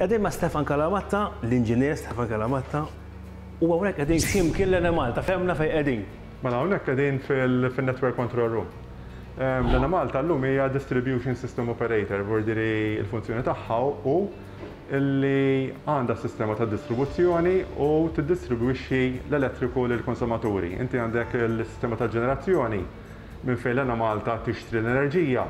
Qegħdin ma' Stefan Calamatta, l-inġinier Stefan Calamatta, u hawnhekk qegħdin x'imkien l-Enemalta, fehmna fejn qegħdin. Mela hawnhekk qegħdin fil-Network Control Room. L-Enemalta llum hija Distribution System Operator, vuol dire l-funzjoni tagħha hu li għandha sistema ta' distribuzzjoni u tiddistribwixxi l-elettriku lill-konsumaturi. Inti għandek il-sistema ta' ġenerazzjoni minn fejn l-Enemalta tixtri l-enerġija,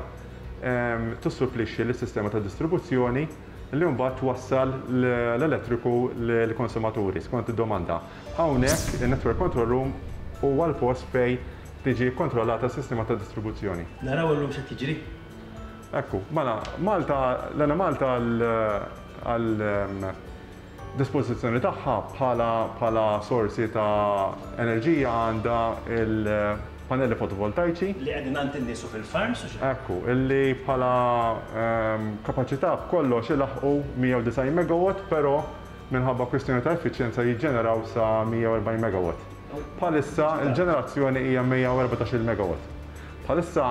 tissupplixxi lis-sistema ta' distribuzzjoni li mbagħad twassal l-elettriku lill-konsumaturi skont id-domanda. Hawnhekk in-Network Control Room huwa l-post fejn tiġi kkontrollata s-sistema ta' distribuzzjoni. Naraw illum x'qed jiġri. Ekku, mela, Malta, l-Enemalta għal dispożizzjoni tagħha bħala bħala sorsi ta' enerġija għandha l-pannelli fotovoltajċi. Li qegħdin għand in-nies u fil-farms u x'hekk. Ekku, illi bħala kapaċità b'kollox ilaħħqu 190 megawatt, però minħabba kwistjoni ta' effiċjenza jiġġeneraw sa 140 megawatt. Bħalissa l-ġenerazzjoni hija 114-il megawatt. Bħalissa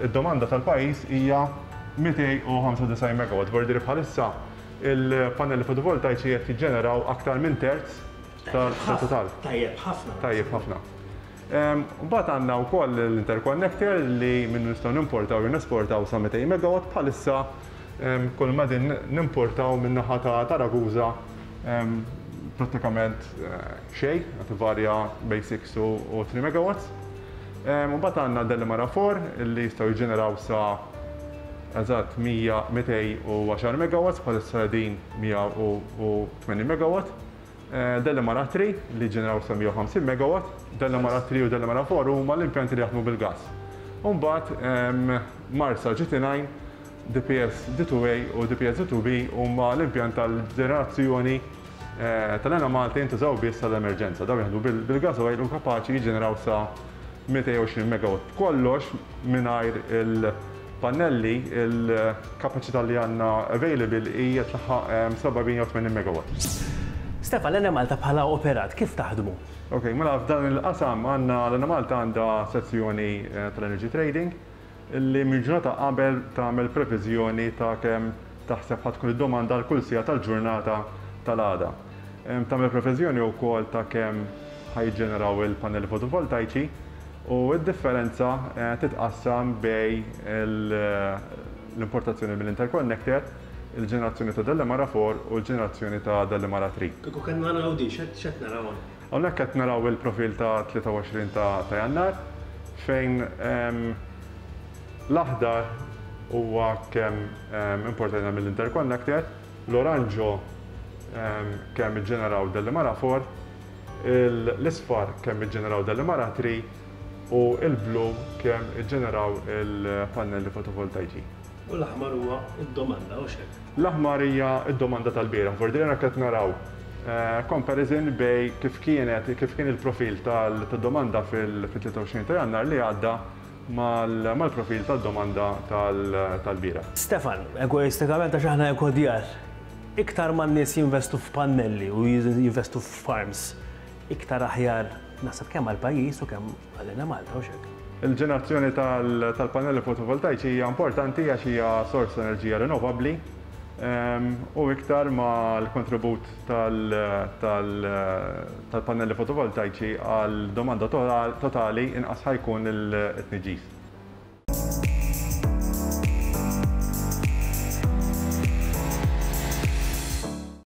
d-domanda tal-pajjiż hija 295 megawatt, vuol dire bħalissa Il-pannelli fotovoltajċi qed jiġġeneraw aktar minn terz tat-total. Tajjeb ħafna. Tajjeb ħafna. Mbagħad għandna wkoll l-interconnector li minnu nistgħu nimportaw jew nesportaw sa 200 megawatt bħalissa kull ma din nimportaw min-naħa ta' Ragusa prattikament xejn, qed ivarja bejn 6 u 3 megawatts. Mbagħad għandna Delimara 4 li jistgħu jiġġeneraw sa eżatt 210 megawatts, bħalissa qegħdin 180 megawatt. Delimara 3 li jiġġeneraw sa 150 megawatt. Delimara 3 u Delimara 4 huma l-impjanti li jaħdmu bil-gass. U mbagħad Marsa GT9, DPS D2A u DPS D2B huma l-impjant tal-ġenerazzjoni tal-Enemalta jintużaw biss għall-emerġenza. Dawn jaħdmu bil-gas oil u kapaċi jiġġeneraw sa 220 megawatt. B'kollox mingħajr il-pannelli, il-kapaċità li għandna available hija tlaħħaq 780 megawatt. Stefan, l-Enemalta bħala operat kif taħdmu? Ok, mela f'dan il-qasam għandna l-Enemalta għandha sezzjoni tal-energy trading li minn ġurnata qabel tagħmel previżjoni ta' kemm taħseb ħa tkun id-domanda għal kull siegħa tal-ġurnata tal-għada. Tagħmel previżjoni wkoll ta' kemm ħa jiġġeneraw il-pannelli fotovoltajċi u d-differenza titqassam bejn l-importazzjoni mill-interconnector, il-ġenerazzjoni ta' Delimara 4 u l-ġenerazzjoni ta' Delimara 3. Kieku kellna naraw din, x'qed naraw hawnhekk? Hawnhekk qed naraw il-profil ta' 23 ta' Jannar fejn l-aħdar huwa kemm importajna mill-interconnector, l-oranġo kemm iġġeneraw Delimara 4, l-isfar kemm iġġeneraw Delimara 3 u l-blu kemm iġġeneraw il-pannelli fotovoltajċi. U l-aħmar huwa d-domanda, hux hekk? L-aħmar hija d-domanda tal-bieraħ. Vordilena qed naraw comparison bejn kif kienet kif kien il-profil tad-domanda fil-23 ta' Jannar li għadda mal-profil tad-domanda tal-bieraħ. Stefan, egoistikament għax aħna ekodjar, iktar ma n-nies jinvestu f'pannelli u jinvestu f'farms, iktar aħjar naħseb kemm għall-pajjiż u kemm għal Malta, hux hekk? Il-ġenerazzjoni tal-pannelli fotovoltajċi hija importanti għax hija sors ta' enerġija rinnovabbli u iktar ma l-kontribut tal-pannelli fotovoltajċi għal domanda totali inqas ħa jkun it-tniġġis.